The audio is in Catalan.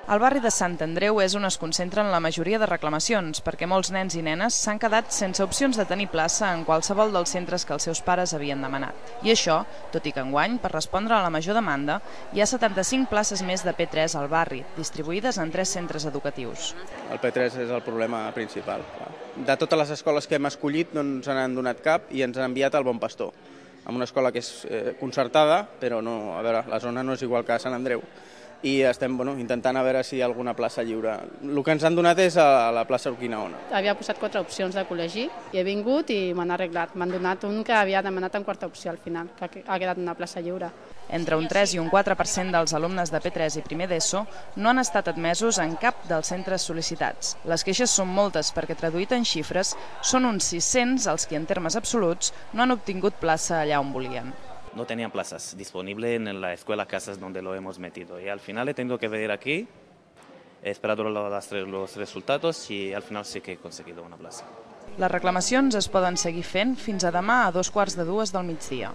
El barri de Sant Andreu és on es concentren la majoria de reclamacions, perquè molts nens i nenes s'han quedat sense opcions de tenir plaça en qualsevol dels centres que els seus pares havien demanat. I això, tot i que enguany, per respondre a la major demanda, hi ha 75 places més de P3 al barri, distribuïdes en 3 centres educatius. El P3 és el problema principal. De totes les escoles que hem escollit no ens n'han donat cap i ens han enviat al Bon Pastor, amb una escola que és concertada, però no, a veure, la zona no és igual que a Sant Andreu. I estem intentant a veure si hi ha alguna plaça lliure. El que ens han donat és a la plaça Urquinaona. Havia posat 4 opcions de col·legi i he vingut i m'han arreglat. M'han donat un que havia demanat en quarta opció al final, que ha quedat una plaça lliure. Entre un 3 i un 4% dels alumnes de P3 i primer d'ESO no han estat admesos en cap dels centres sol·licitats. Les queixes són moltes perquè, traduït en xifres, són uns 600 els que en termes absoluts no han obtingut plaça allà on volien. No tenían plazas disponibles en la escuela Casas donde lo hemos metido. Y al final he tenido que venir aquí, he esperado los resultados y al final sí que he conseguido una plaza. Les reclamacions es poden seguir fent fins a demà a 2:15 del migdia.